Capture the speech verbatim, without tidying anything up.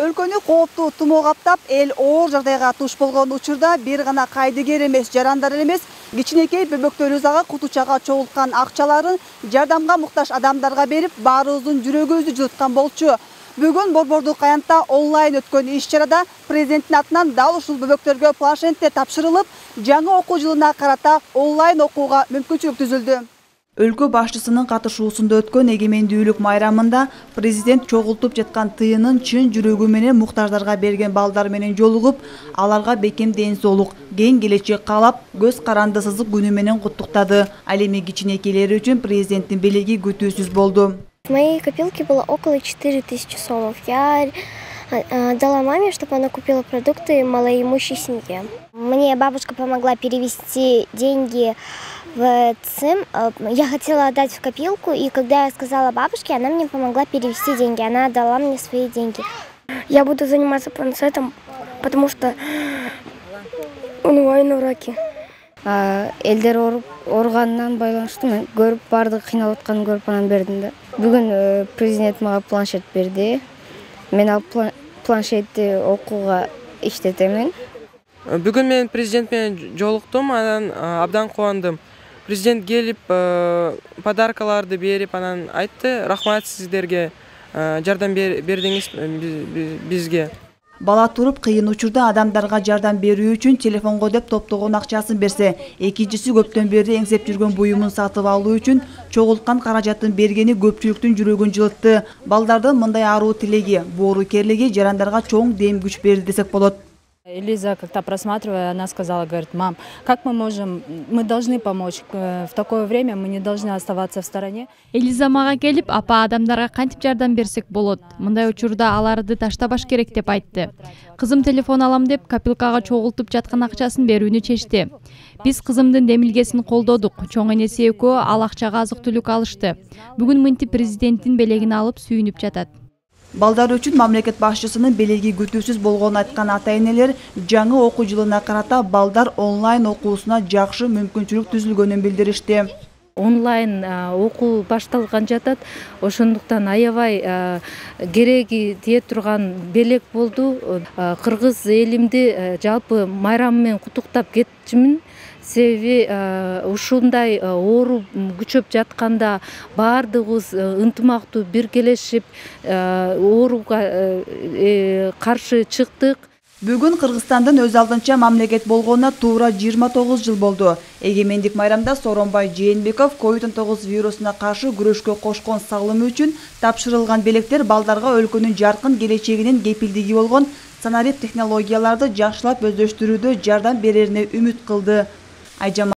өлкөнү кооптуу тумоо каптап, эл оор жагдайга туш болгон учурда бир гана кайдыгер эмес, жарандар эмес, кичинекей бөбөктөр ага кутучага чогулткан акчаларын жардамга муктаж адамдарга берип, баарыбыздын жүрөгүбүздү жылыткан болчу. Бүгүн Борбордук аянтта онлайн өткөн иш-чарада президенттин атынан дал ушул бөбөктөргө планшеттер тапшырылып, жаңы окуу жылына карата онлайн окууга мүмкүнчүлүк түзүлдү. Өлкө башчысынын катышуусунда өткөн эгемендүүлүк майрамында президент чогултуп жаткан тыйынын чын жүрөгү менен муктаждарга берген балдар менен жолугуп, аларга бекем ден соолук, кең келечек каалап, көз каранды сызык күнү менен куттуктады. Ал эми кичинекейлер үчүн президенттин белеги күтүүсүз болду. В моей копилке было около четыре тысячи сомов. Я дала маме, чтобы она купила продукты малоимущей семье. Мне бабушка помогла перевести деньги в ЦИМ. Я хотела отдать в копилку, и когда я сказала бабушке, она мне помогла перевести деньги. Она отдала мне свои деньги. Я буду заниматься планшетом, потому что онлайн уроки. Элдер ооруганынан байланыштуу мен көрүп, баардыгы кыйналып атканын көрүп анан бердим да. Бүгүн президент мага планшет берди. Мен ал планшетти окууга иштетемин. Бүгүн мен президент менен жолуктум, анан абдан кубандым. Президент келип, подаркаларды берип, анан айтты: "Рахмат сиздерге, жардам бердиңиз бизге". Бала туруп кыйын учурда адамдарга жардам берүү үчүн телефонго деп топтогон акчасын берсе, экинчиси көптөн бери эңсеп жүргөн буюмун сатып алуу үчүн чогулткан каражатын бергени көпчүлүктүн жүрөгүн жылытты. Балдардын мындай аруу тилеги, боору керлиги жарандарга чоң дем күч берди десек болот. Элиза, как-то просматривая, она сказала, говорит: "Мам, как мы можем, мы должны помочь, в такое время мы не должны оставаться в стороне". Элиза мага келип, апа, адамдарга кантип жардам берсек болот? Мындай учурда аларды таштабаш керек деп айтты. Кызым телефон алам деп копилкага чогултуп жаткан акчасын берүүнү чечти. Биз кызымдын демилгесин колдодук. Чоң энеси экөө ал акчага азык-түлүк алышты. Бүгүн мынтип президенттин белегин алып сүйүнүп жатат. Балдар үчүн мамлекет башчысынын белеги күтүүсүз болгонун айткан ата-энелер жаңы окуу жылына карата балдар онлайн окуусуна жакшы мүмкүнчүлүк түзүлгөнүн билдиришти. Онлайн окуу башталган жатат, ошондуктан аябай кереги тие турган белек болду. Кыргыз элимди жалпы майрам менен куттуктап кетчүмүн. Себеби ушундай оору күчөп жатканда баардыгыбыз ынтымактуу биргелешип ооруга каршы чыктык. Бүгүн Кыргызстандын өз алдынча мамлекет болгонуна туура жыйырма тогуз жыл болду. Эгемендик майрамда Сооронбай Жээнбеков ковид он тогуз вирусуна каршы күрөшкө кошкон салымы үчүн тапшырылган белектер балдарга өлкөнүн жаркын келечегинин кепилдиги болгон санарип технологияларды жакшылап өздөштүрүүдө жардам берерине үмүт кылды.